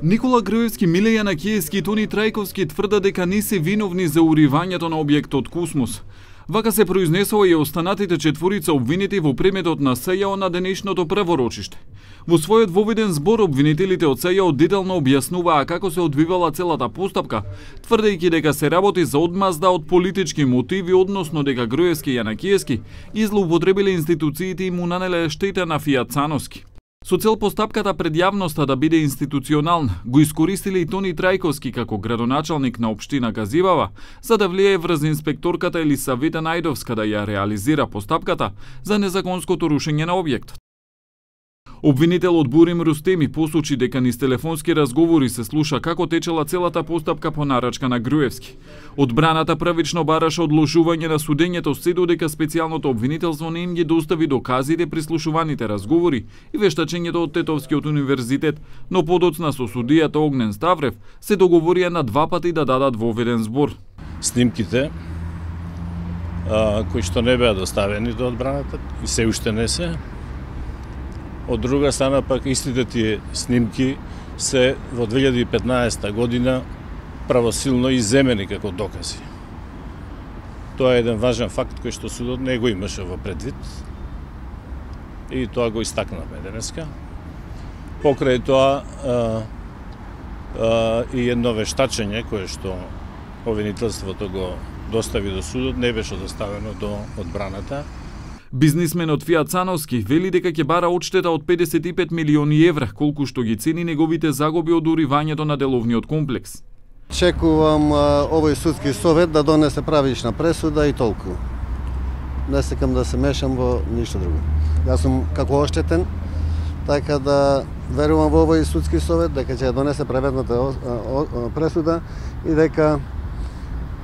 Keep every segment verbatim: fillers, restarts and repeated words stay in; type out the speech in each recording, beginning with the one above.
Никола Груевски, Миле Јанакиевски и Тони Трајковски тврдат дека не се виновни за уривањето на објектот Космос. Вака се произнесува и останатите четворица обвинети во предметот на СЈО на денешното праворочиште. Во својот воведен збор обвинителите од СЈО детално објаснуваа како се одвивала целата постапка, тврдејќи дека се работи за одмазда од политички мотиви, односно дека Груевски и Јанакиевски излоупотребиле институциите и му нанеле штета на Фијат-Сановски. Со цел постапката пред јавноста да биде институционална, го искористиле и Тони Трајковски како градоначалник на општина Газибава, за да влијае врз инспекторката Елисавета Најдовска да ја реализира постапката за незаконското рушење на објектот. Обвинителот Бурим Рустеми посочи дека низ телефонски разговори се слуша како течела целата постапка по нарачка на Груевски. Одбраната правично бараше одложување на судењето се додека специјалното обвинителство не им ги достави доказите при слушуваните разговори и вештачењето од Тетовскиот универзитет, но подоцна со судијата Огнен Ставрев се договорија на два пати да дадат воведен збор. Снимките а, кои што не беа доставени до одбраната и се уште не се. Од друга страна пак истите тие снимки се во две илјади и петнаесета година правосилно изземени како докази. Тоа е еден важен факт кој што судот не го имаше во предвид и тоа го истакнавме денеска. Покрај тоа а, а, и едно вештачење кое што обвинителството го достави до судот не беше доставено до одбраната. Бизнисменот Фијат-Сановски вели дека ќе бара одштета од педесет и пет милиони евра, колку што ги цени неговите загуби од уривањето на деловниот комплекс. Чекувам а, овој судски совет да донесе правична пресуда и толку. Не сакам да се мешам во ништо друго. Јас сум како оштетен, така да верувам во овој судски совет дека ќе донесе праведната пресуда и дека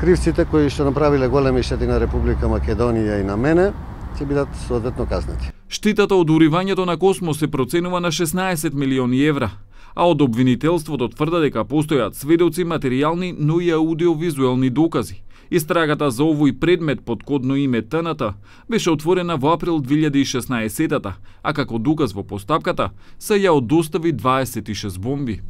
кривците кои што направиле големи штети на Република Македонија и на мене ќе бидат соодветно казнати. Штетата од уривањето на Космос се проценува на шеснаесет милиони евра, а од обвинителството тврда дека постојат сведоци, материјални, но и аудиовизуелни докази. Истрагата за овој предмет под кодно име Т Н Т беше отворена во април две илјади и шеснаесетата, а како доказ во постапката СЈО достави дваесет и шест бомби.